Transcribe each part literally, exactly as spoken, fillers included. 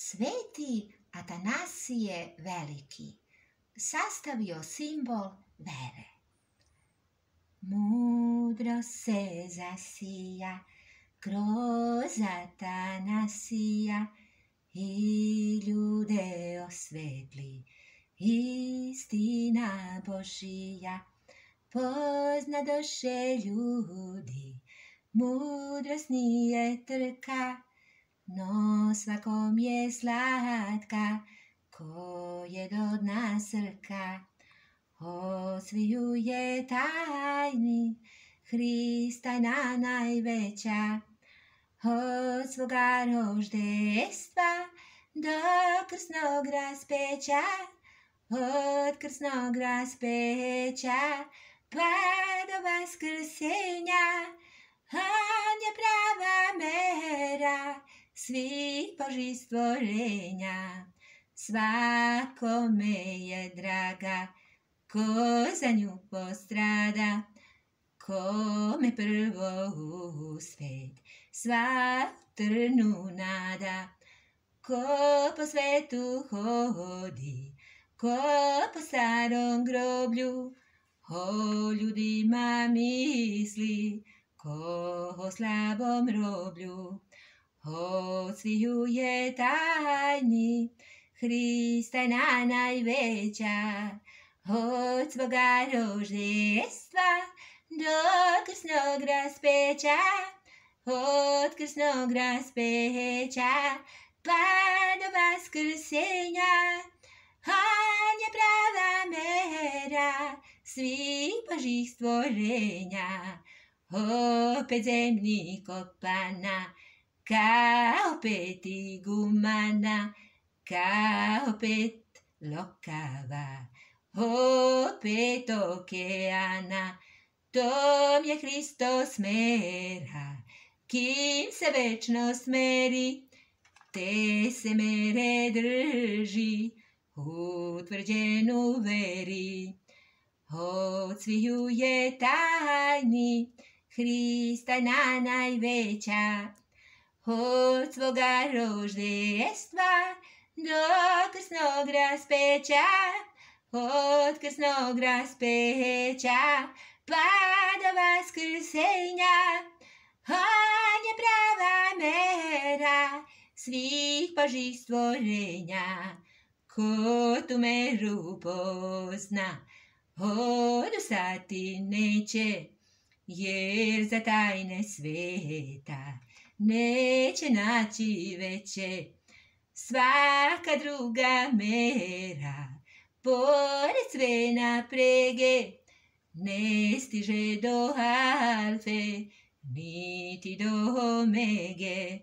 Sveti Atanasije Veliki sastavio simbol vere. Mudro se zasija kroz Atanasija i ljude osvetli istina Božija. Poznadoše ljudi, mudrost nije trka, no svakom je slatka, ko je do dna srka. Od sviju je tajni Hristajna najveća, od svoga roždestva do krsnog raspeća, od krsnog raspeća pa do vaskrsenja. On je prava mera svih Božih stvorenja, svakome je draga ko za nju postrada, kome prvo u svet sva trnu nada, ko po svetu hodi, ko po starom groblju, o ljudima misli, ko o slabom roblju. Od sviju je tajni Hristajna najveća, od svoga roždestva do krsnog raspeća, od krsnog raspeća pa do vaskrsenja. On je prava mera svih Božih stvorenja, opet zemlji kopana, kao pet igumana, kao pet lokava, opet okeana. Tom je Hristos mera, kim se večnost meri, te se mere drži, utvrđenu veri. Od sviju je tajni Hristajna najveća, od svoga roždestva do krsnog raspeća, od krsnog raspeća pa do vaskrsenja. On je prava mera svih Božih stvorenja, ko tu meru pozna, odustati neće, jer za tajne sveta neće naći veće. Svaka druga mera, pored sve naprege, ne stiže do alfe, niti do omege.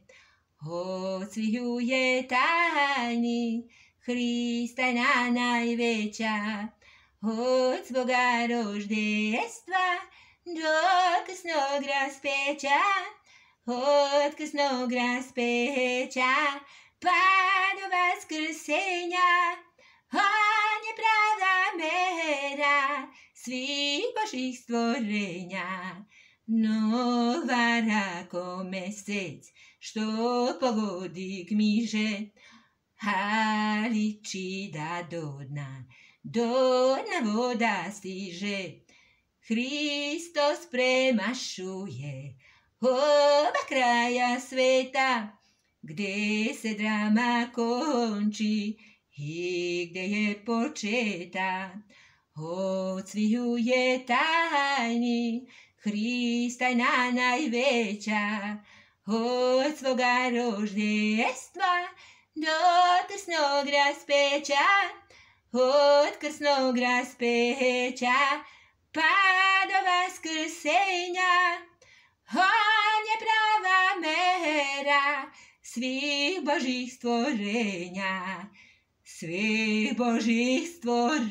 Od sviju je tajni Hristajna najveća, od svoga roždestva do krsnog raspeća, od krsnog raspeća pa do vaskrsenja. On je prava mera svih Božih stvorenja, no vara ko mesec što pogodi gmiže, ali čida do dna, do dna voda stiže. Hristos premašuje oba kraja sveta, gde se drama konči i gde je početa. Od sviju je tajni Hristajna najveća, od svoga roždestva do krsnog raspeća, od krsnog raspeća pa do vaskrsenja. On je prava mera svih Božih stvorenja, svih Božih stvorenja.